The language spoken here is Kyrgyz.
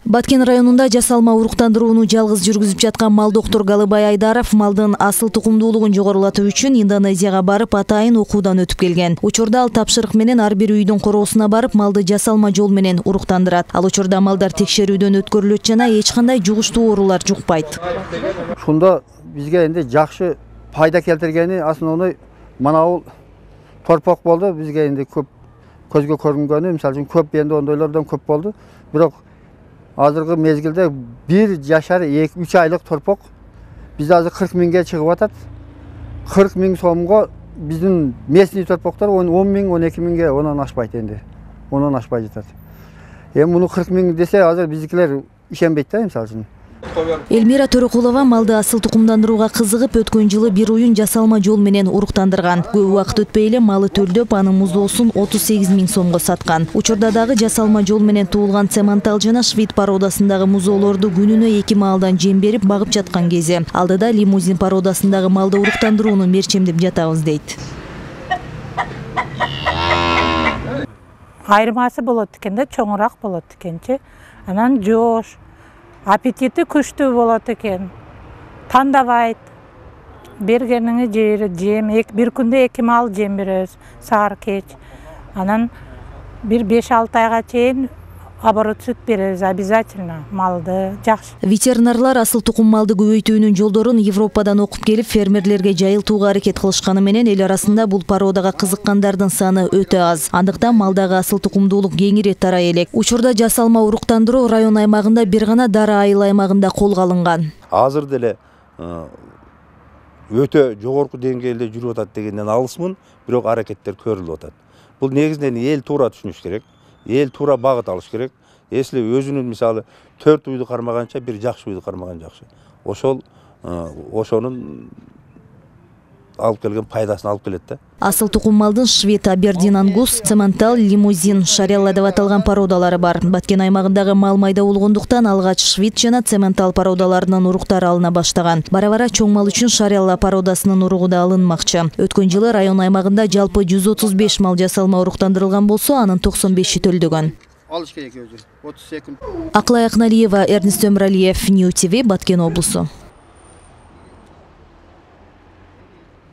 Баткен районунда жасалма уруктандырууну жалгыз жүргүзүп жаткан мал доктор Галыбай Айдаров малдын асыл тукумдуулугун жогорулатуу үчүн Индонезияга барып атайын окуудан өтүп келген. Учурда ал тапшырык менен ар бир үйдүн короосуна барып малды жасалма жол менен уруктандырат. Ал учурда малдар текшерүүдөн өткөрүлөт жана эч кандай жугуштуу оорулар жукпайт. Ушунда бизге энди жакшы пайда келтиргени основной мына бул торпок болду. Бизге энди көп көзгө көрүнгөнү, мисалы үчүн көп энди ондойлордон көп болду. Бирок азыркы мезгилде 1 жашар 2-3 айлык торпок бизде азыр 40 миңге чыгып атат. 40 миң сомго биздин местный торпоктор 10 миң, 12 миңге онон ашпайт энди. Онон ашпай жатат. Эми муну 40 миң десе азыр биздикилер ишенбейт да, мисалы үчүн. Элмира Төрөкулова малды асыл тукумдандырууга кызыгып, өткөн жылы бир уюн жасалма жол менен уруктандырган. Көп убакыт өтпөй эле малы төлдөп, анын муздоосун 38 миң сомго саткан. Учурда дагы жасалма жол менен туулган цементал жана швид породасындагы музоолорду күнүнө 2 маалдан жем берип багып жаткан кези. Алдыда лимузин породасындагы малды уруктандырууну мерчемдеп жатабыз дейт. Айырмасы болот экен да, чоңураак болот экенчи. Анан жоош, аппетити күчтүү болот экен. Тандабайт. Бергениңи жем, бир күндө 2 маал жем беребиз, саар кеч. Анан бир 5-6 айга чейин оборот сүт беребиз обязательно, малды жакшы. Ветеринарлар асыл тукум малды көбөйтүүнүн жолдорун Европадан окуп келип, фермерлерге жайылтууга аракет кылышканы менен эл арасында бул породага кызыккандардын саны өтө аз. Андыктан малдагы асыл тукумдуулук кеңири тарай элек. Учурда жасалма уруктандыруу район аймагында бир гана Дара айыл аймагында колго алынган. Азыр деле өтө жогорку деңгээлде жүрүп атат дегенден алысмын, бирок аракеттер көрүлүп атат. Бул негизинен эл туура түшүнүш керек. Эл туура багыт алыш керек. Если өзүнүн мисалы 4 уйду кармаганча бир жакшы уйду кармаган жакшы. Ошонун алып келген пайдасын алып келет да. Асыл тукум малдын швед, абердин ангус, цементал, лимузин, шарелла деп аталган породалары бар. Баткен аймагындагы мал майда болгондуктан алгач швед жана цементал породаларынын уруктары алына баштаган. Бара-бара чоң мал үчүн шарелла породасынын уругу да алынмакчы. Өткөн жылы район аймагында жалпы 135 мал жасалма уруктандырылган болсо, анын 95-и төлдөгөн. Алыш керек өзү. 30 секунд. Аклай Акналиева, Эрнест Өмүралиев, Нью ТВ, Баткен облусу.